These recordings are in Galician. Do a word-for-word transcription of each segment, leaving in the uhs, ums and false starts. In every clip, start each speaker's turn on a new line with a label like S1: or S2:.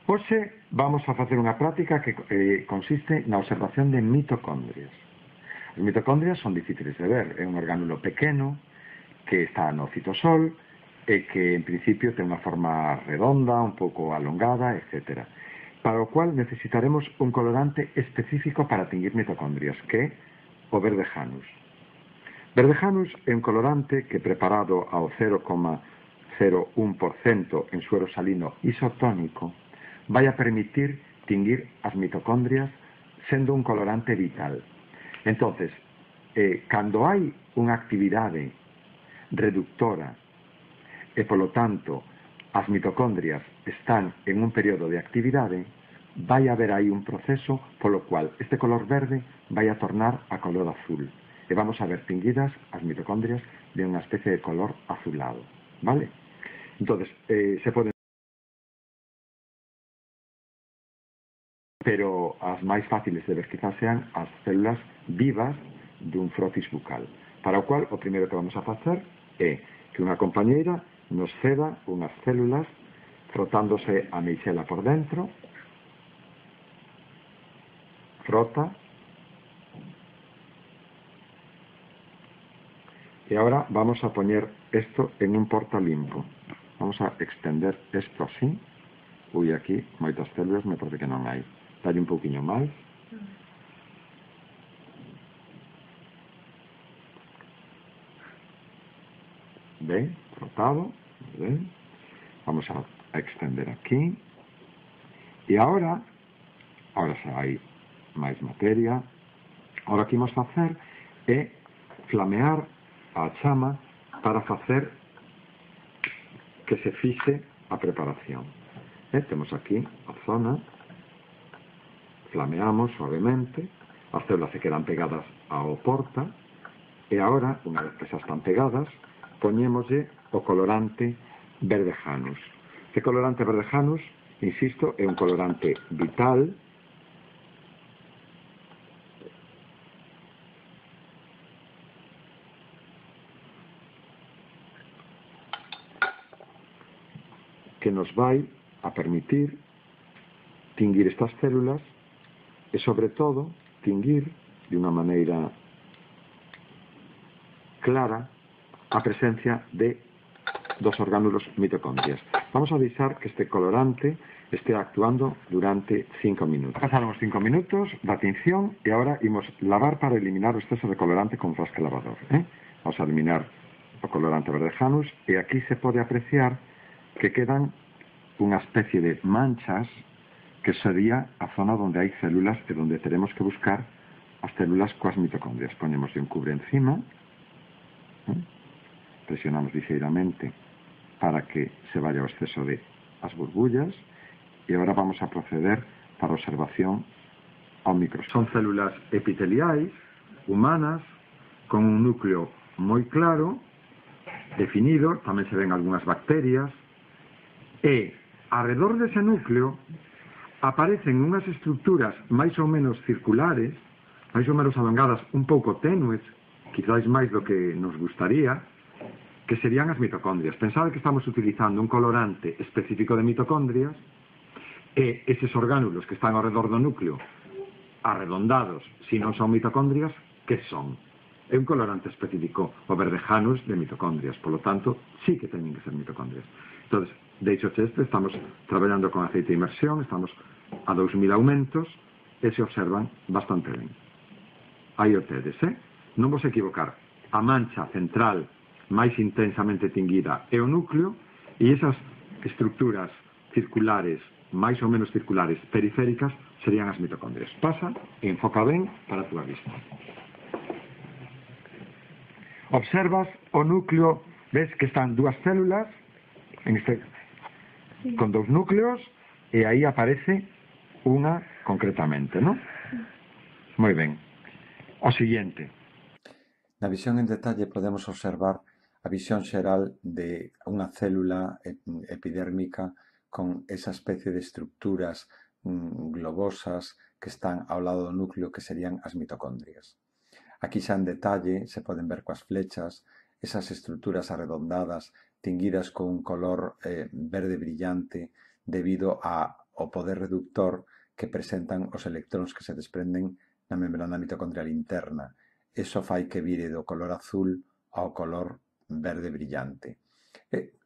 S1: Hoxe vamos a facer unha práctica que eh, consiste na observación de mitocondrias. As mitocondrias son difíciles de ver, é un orgánulo pequeno que está no citosol e que en principio ten unha forma redonda, un pouco alongada, etcétera. Para o cual necesitaremos un colorante específico para tinguir mitocondrias, que é o verde Janus. Verde Janus é un colorante que preparado ao cero coma cero un por cento en suero salino isotónico vai a permitir tinguir as mitocondrias sendo un colorante vital. Entonces, eh, cando hai unha actividade reductora e, polo tanto, as mitocondrias están en un período de actividade, vai haber aí un proceso polo cual este color verde vai a tornar a color azul. E vamos a ver tinguidas as mitocondrias de unha especie de color azulado. Vale? Entonces, eh, se poden pero as máis fáciles de ver quizás sean as células vivas dun frotis bucal. Para o cual, o primeiro que vamos a facer é que unha compañeira nos ceda unhas células frotándose a meixela por dentro, frota, e agora vamos a poñer isto en un porta limpo. Vamos a extender isto así. Ui, aquí moitas células me parece que non hai. Dalle un pouquiño máis. Ben, frotado. Ben. Vamos a, a extender aquí. E agora, agora xa hai máis materia. Agora o que imos facer é flamear a chama para facer que se fixe a preparación. E temos aquí a zona. Flameamos suavemente, as células se quedan pegadas ao porta e agora, unha vez que xa están pegadas, poñémoslle o colorante verde Janus. Este colorante verde Janus, insisto, é un colorante vital que nos vai a permitir tinguir estas células e, sobre todo, tinguir de unha maneira clara a presencia de dos orgánulos mitocondrias. Vamos a deixar que este colorante este actuando durante cinco minutos. Pasaron os cinco minutos da tinción e agora imos lavar para eliminar o exceso de colorante con frasca lavador. Eh? Vamos a eliminar o colorante verde Janus e aquí se pode apreciar que quedan unha especie de manchas que sería a zona onde hai células e onde teremos que buscar as células coas mitocondrias. Ponemos un cubre encima, ¿eh? Presionamos ligeiramente para que se vaya o exceso de as burbullas e agora vamos a proceder para a observación ao microscopio. Son células epiteliais, humanas, con un núcleo moi claro, definido, tamén se ven algunhas bacterias, e alrededor dese núcleo aparecen unhas estructuras máis ou menos circulares, máis ou menos alongadas, un pouco tenues, quizás máis do que nos gustaría, que serían as mitocondrias. Pensade que estamos utilizando un colorante específico de mitocondrias e eses orgánulos que están ao redor do núcleo arredondados, se non son mitocondrias, que son? É un colorante específico, o verde Janus de mitocondrias, polo tanto, sí que teñen que ser mitocondrias. Entón, deixo este, estamos traballando con aceite de inmersión, estamos a dous mil aumentos e se observan bastante ben. Aí o tedes, eh? Non vos equivocar, a mancha central máis intensamente tinguida é o núcleo e esas estructuras circulares, máis ou menos circulares, periféricas, serían as mitocondrias. Pasa e enfoca ben para a túa vista. Observas o núcleo, ves que están dúas células, en este, sí, con dous núcleos, e aí aparece unha concretamente, non? Moi ben. O siguiente.
S2: Na visión en detalle podemos observar a visión xeral de unha célula epidérmica con esa especie de estructuras mm, globosas que están ao lado do núcleo que serían as mitocondrias. Aquí xa en detalle se poden ver coas flechas esas estructuras arredondadas tinguidas con un color eh, verde brillante debido a o poder reductor que presentan os electróns que se desprenden na membrana mitocondrial interna. Iso fai que vire do color azul ao color verde brillante.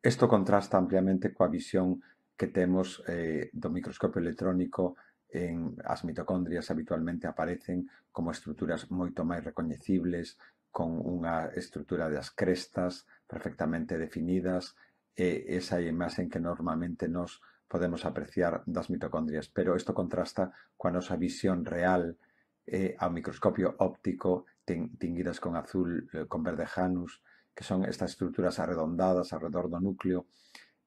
S2: Isto contrasta ampliamente coa visión que temos eh, do microscopio electrónico. En as mitocondrias habitualmente aparecen como estruturas moito máis recoñecibles, con unha estrutura das crestas perfectamente definidas, e esa é a imaxe que normalmente nos podemos apreciar das mitocondrias, pero isto contrasta coa nosa visión real eh, ao microscopio óptico, tinguidas con azul, eh, con verde Janus, que son estas estruturas arredondadas alrededor do núcleo,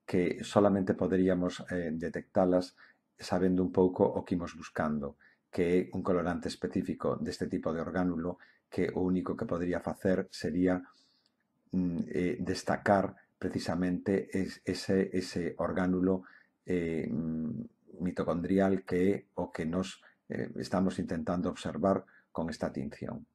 S2: que solamente poderíamos eh, detectalas sabendo un pouco o que imos buscando, que é un colorante específico deste tipo de orgánulo, que o único que podría facer sería mm, eh, destacar precisamente es, ese, ese orgánulo eh, mitocondrial que é o que nos eh, estamos intentando observar con esta tinción.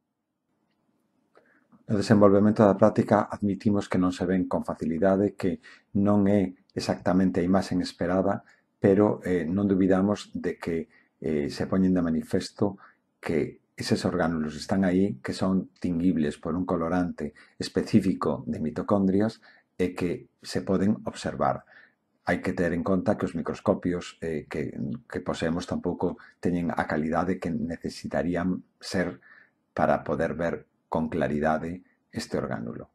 S2: No desenvolvemento da práctica admitimos que non se ven con facilidade, que non é exactamente a imaxe esperada, pero eh, non dubidamos de que eh, se poñen de manifesto que eses orgánulos están aí, que son tinguibles por un colorante específico de mitocondrias e que se poden observar. Hai que ter en conta que os microscopios eh, que, que poseemos tampouco teñen a calidade que necesitarían ser para poder ver con claridade este orgánulo.